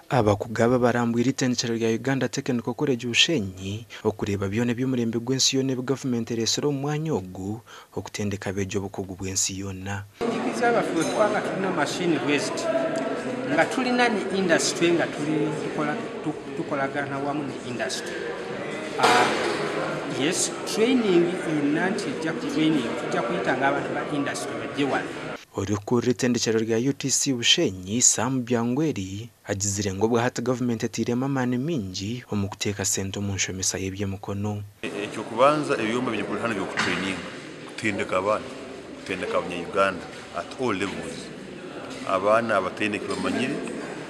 Abakugu aba barambwire eitendekyero rya Uganda Technical College Bushenyi okureeba byona eby'omurembe gw'ensi yoona ebi gavumenti ereetsire omu mwanya ogu okutendeka abeegi obukugu bw'ensi yoona. Twaba tulina mashini bweziti nga tulina ne industry nga tuli tukolagana wamu ne industry, yes, training yonna nti ejja ku training tujja kuyitanga abantu ba industry bajje wano. Orikukurira eitendekyero rya UTC Bushenyi, Sam Byangweri agizire ngu obwahati gavumenti etairemu amaani maingi omu kuteeka sente omu nshomesa y'eby'emikono. Ekyokubanza, ebyoma biri hano by'okutraininga, kutendeka abaana, kutendeka abanya-Uganda at all levels, abaana abataine ekibamanyire,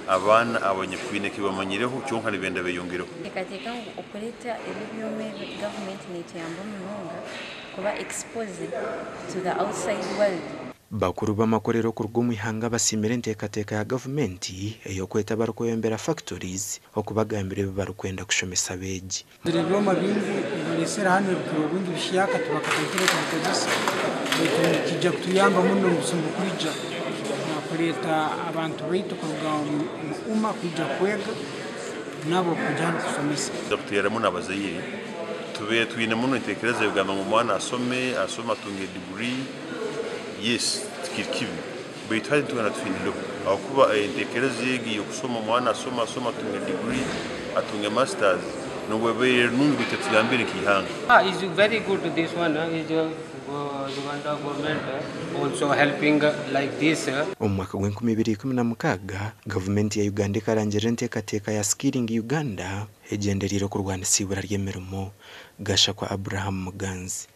abaana abanyakwine ekibamanyireho kyonka nibenda beyongereho. Nteekateeka ngu okureeta ebi ebyoma ebi, gavumenti neetuyamba munonga kuba exposed to the outside world. Bakuru b'amakorero okuruga omu ihanga basiimire enteekateeka ya gavumenti ey'okweta abarikweyombera factories okubagambira ebi barikwenda kushomesa abeegi. Ebyoma bingi ebibareesire hanu ebikira obwingi bishyaka, tibakatandikire kubikozesa, baitu nikijja kutuyamba muno omu busumi bukwija kureeta abantu baitu kuruga omu UMA kwija kwega nabo kwija hanu kusomesa. Kuteeramu n'abazaire, tubeire twine muno enteekereza egamba ngu omwana asome, asome atunge degree. Yes, tikiri kibi, baitu hati nitwenda tuhindureho ahakuba enteekereza egi y'okusoma, omwana asome, asome atunge degree, atunge masters, nobwo ebaire nungi, baitu tetuyambire nk'ihanga. Is very good this one is Uganda government also helping like this. Omu mwaka gw'e 2016, gavumenti ya Uganda ekarangirira enteekateeka ya Skilling Uganda egyendereire okurwanisa ibura ry'emirimo. Gashakwa Abraham Muganzi.